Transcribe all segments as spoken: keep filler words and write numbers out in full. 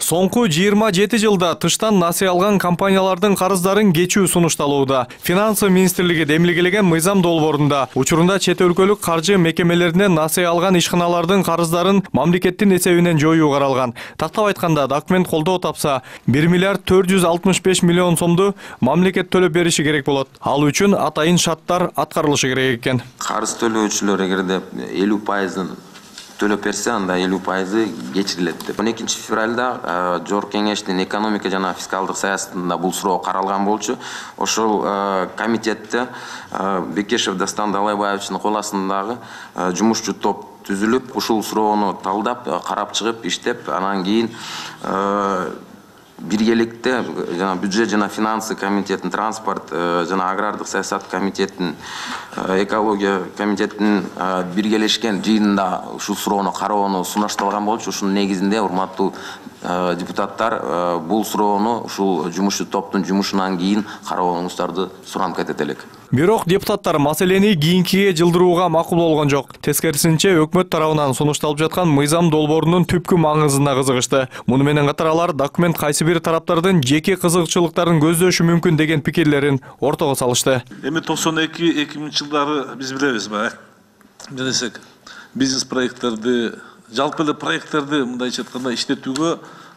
Соңку жыйырма жети жылда тыштан насыя алган компаниялардын карыздарын кечүү сунушталууда. Финансы министрлиги демилгелеген мыйзам долбоорунда учурунда чет өлкөлүк каржы мекемелеринен насыя алган ишканалардын карыздарын мамлекеттин эсебинен жоюу каралган. Тактап айтканда, документ колдоо тапса, бир миллиард төрт жүз алтымыш беш миллион сомду мамлекет төлөп бериши керек болот. Ал үчүн атайын шарттар аткарылышы керек экен. Карыз төлөөчүлөр эгерде элүү пайызын төлөп берсе, анда элүү пайызы кечирилет деп. он экинчи февралда Жогорку Кеңештин экономика жана фискалдык саясатында бул суроо каралган болчу. Ошол комитетте Бекешев Дастан Далайбаевичтин кол астындагы жумушчу топ түзүлүп, ушул суроону талдап, карап чыгып, иштеп, анан кийин биргеликте жана бюджет жана финансы комитетин, транспорт жана агрардык саясат комитетин, экология комитетин биргелешкен жыйынында ушул суроону кароону сунушталган болчу. Ушунун негизинде, урматтуу депутаттар, бул суроону ушул жумушчу топтун жумушунан кийин карооңуздарды суранып кетет элек. Бирок депутаттар маселени кийинкиге жылдырууга макул болгон жок. Тескерисинче, өкмөт тарабынан сунушталып жаткан мыйзам долбоорунун түпкү маңызына кызыгышты. Муну менен катар алар документ кайсы бир тараптардын жеке кызыкчылыктарын көздөшү мүмкүн деген пикирлерин ортого салышты. Эми токсон эки эки миңинчи жылдары биз билебиз ба? Десек, бизнес проекттерди, жалпы эле проекттерди мындайча айтканда иштетүүгө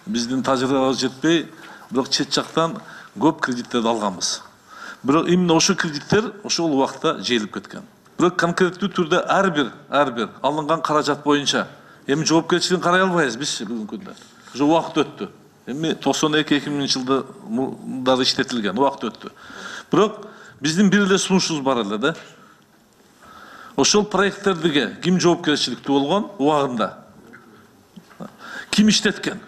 биздин тажрыйбабыз жетпей, бирок чет жактан көп кредиттерди алганбыз. Бирок именно ошол кредиттер ошол убакта жейилип кеткен. Бирок конкреттүү түрдө ар бир ар бир алынган каражат боюнча эми жоопкерчилигин карай албайбыз биз бүгүнкү күндө. Уже убакыт өттү. Эми токсон эки эки миңинчи жылдары иштетилген, убакыт өттү. Бирок биздин бир эле сунушубуз бар эле да. Ошол проекттерге ким жоопкерчиликтүү болгон убагында? Ким иштеткен?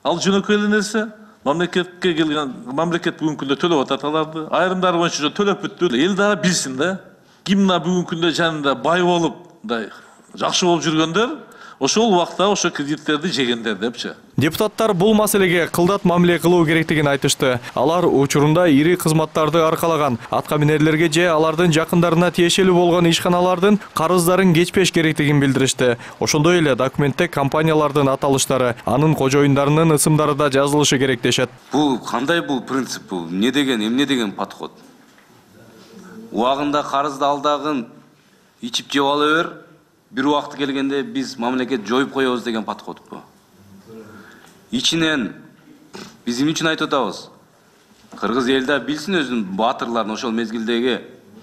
Ал жөнөкөй эле нерсе. Мамлекетке келген, мамлекет бүгүнкү күндө төлөп атат аларды. Айрымдары боюнча төлөп бүттү. Эл дагы билсин да. Ким мына бүгүнкү күндө жанында бай болуп, мындай жакшы болуп жүргөндөр, ошол убакта ошо кредиттерди жегендер депчи. Депутаттар бул маселеге кылдат мамиле кылуу керектигин айтышты. Алар учурунда ири кызматтарды аркалаган атка минерлерге же алардын жакындарына тиешелүү болгон ишканалардын карыздарын кечпеш керектигин билдиришти. Ошондой эле документте компаниялардын аталыштары, анын кожоюндарынын ысымдары да жазылышы керек дешет. Бул кандай бул принцип, бул эмне деген, эмне деген подход? Убагында карызды алдагын ичип жеп ала бер, бир убакыт келгенде биз мамлекет жоюп коебуз деген подход бу. Ичинен биз эмне үчүн айтып атабыз? Кыргыз эл да билсин өзүнүн баатырларын ошол мезгилдеги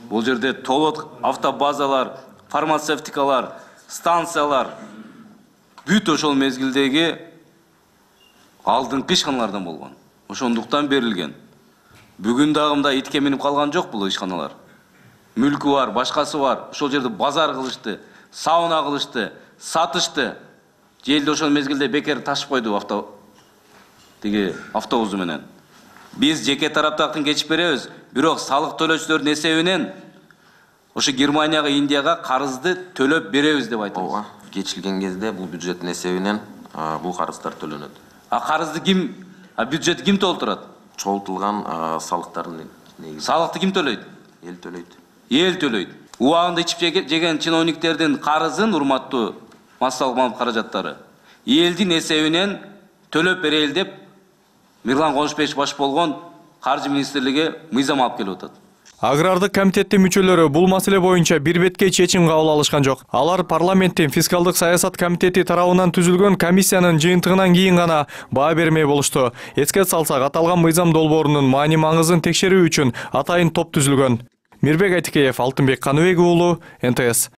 бул жерде толот автобазалар, фармацевтикалар, станциялар бүт ошол мезгилдеги алдыңкы ишканалардан болгон. Ошондуктан берилген. Бүгүн дагы мындай итке минип калган жок бул ишканалар. Мүлкү бар, башкасы бар. Ошол жерде базар кылышты, сауна кылышты, сатышты. Желде ошол мезгилде бекер ташып койду авто тиги автобусу менен. Биз жеке тараптактан кечип беребиз, бирок салык төлөөчүлөрдүн эсебинен ошо Германияга, Индияга карызды төлөп беребиз деп айтабыз. Ооба, кечилген кезде бул бюджеттин эсебинен бул карыздар төлөнөт. А карызды ким, а бюджетти ким толтурат? Чогултулган салыктардын негизи. Салыкты ким төлөйт? Эл төлөйт. Эл төлөйт. Убагында ичип жеген чиновниктердин карызын, урматтуу массалык маалымат каражаттары, элдин эсебинен төлөп берели деп Мирлан Конушбеков баш болгон каржы министрлиги мыйзам алып келип атат. Агрардык комитеттин мүчөлөрү бул маселе боюнча бир бетке чечим кабыл алышкан жок. Алар парламенттин фискалдык саясат комитети тарабынан түзүлгөн комиссиянын жыйынтыгынан кийин гана баа бермей болушту. Эске салсак, аталган мыйзам долбоорунун маани маңызын текшерүү үчүн атайын топ түзүлгөн. Мирбек Айтикеев, Алтынбек Каныбек уулу, эн тэ эс.